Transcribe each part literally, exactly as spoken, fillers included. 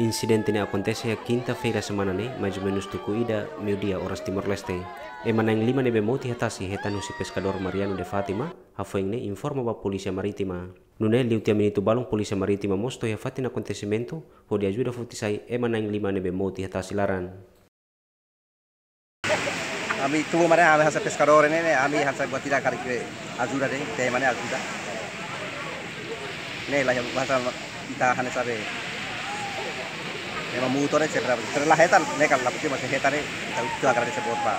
Insidente ne'e akontese iha kinta-feira semana ne'e, mais ou menus tuku ida meiudia oras Timor-Leste. Ema na'in lima ne'ebé mout iha tasi hetan husi peskadór Mariano de Fátima, hafoin ne'e informa ba Polísia Marítima. Nune'e liu tiha minutu balun Polísia Marítima mós to'o iha fatin akontesimentu, hodi ajuda foti sai ema na'in lima ne'ebé mout iha tasi laran. Ami tubu mane ami hanesan peskadór ne'e, ne'e, ami hanesan buat ida karik ajuda de'it, ita mane ajuda. Ne'e la iha hanesan ita hanesan be. Ema mout ne'e sempre, sempre la hetan, ne'e kan la pasti masih hetan ne'e, ita, ita agradese boot ba.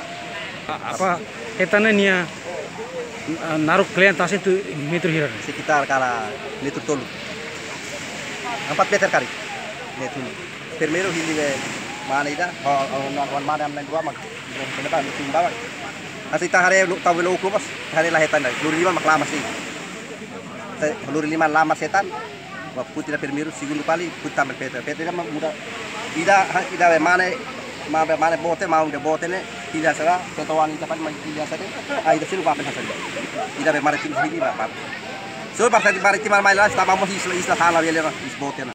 Apa hetan ne'e nia, ah, naruk kle'an tasi ne'e metru hira? Sekitar kala metru tolu. Empat meter karik. Ne'e tun. Primeiru hili be mane ida, ho, ho, wan, wan mane ami na'in-rua mak. Kena ba, tumba ba. Hanesan ita haree, lu, tau belo uku bos, haree la hetan ida. Lori liman mak lamas de'it. Te, lori liman lamas hetan. Ba foti ida primeiru, segundu fali, foti tan be feto. Feto ida mak muda. Ida, ha, ida be mane, mane be mane bote, mane be bote ne'e, ida sera, feto wan ida fali mai ida sera. Ah, ida selu ba pen hanesan ida. Ida be mane tim sini ba, ba. So, parte di Marítima mai la, ita ba mós isla, isla sala bele na, is bote na.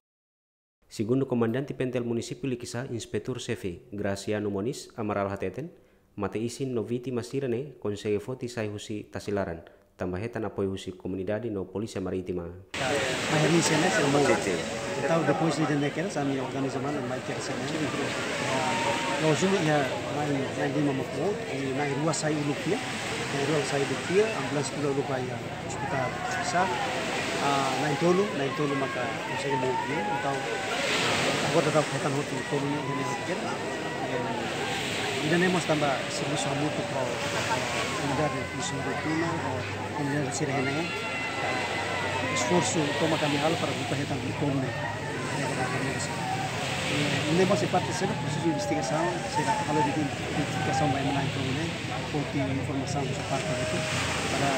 Segundu Komandante Pentel Munisípiu Likisá, Inspetór Xefe Graciano Moniz Amaral hateten, mate-isin no vítima sira-ne'e konsege foti sai husi tasi laran, tanba hetan apoiu husi komunidade no Polísia Marítima. Mai hanesan ne'e, sira mout. Sin, sin. Entaun, depois de ne'e kedas, ami organiza mane, mai kedas ne'e. Ah, loos duni iha, mai, mai lima mak mout, i na'in-rua sai uluk tiha, na'in-rua sai uluk tiha, ambulánsia tula uluk ba iha ospitál Likisá, ah, na'in-tolu, na'in-tolu maka konsege mout de'it. Entaun, agora daudaun hetan hotu tolu ne'e, ne'e hotu kedas. Eh, ida-ne'e mós tanba servisu hamutuk ho, eh, unidade Polísia Marítima, ho unidade sira-ne'e. Esforsu tomak ami halo para buka hetan tolu ne'e. Eh, ne'e mós parte sira prosesu investigasaun, sira halo identifikasaun ba ema na'in-tolu ne'e, foti informasaun husi parte ne'e, para,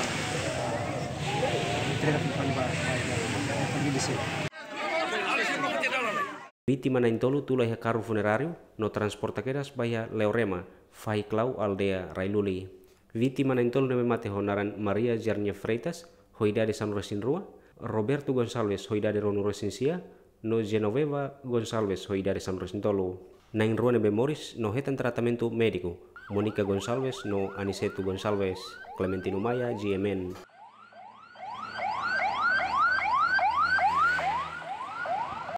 eh, entrega tumpang ba, ba, ba, ba família sira. Vítima na'in-tolu tula iha karru funeráriu no transporta kedas ba iha Leorema, fahi Klau, aldeia Railuli. Vítima na'in-tolu ne'ebé mate ho naran Maria Jarnia Freitas, ho idade sanulu-resin-rua, Roberto Gonçalves, ho idade ruanulu-resin-sia, no Genoveva Gonçalves, ho idade sanulu-resin-tolu. Na'in-rua ne'ebé moris no hetan tratamentu médiku, Mónica Gonçalves no Aniceto Gonçalves. Clementino Maia, G M N.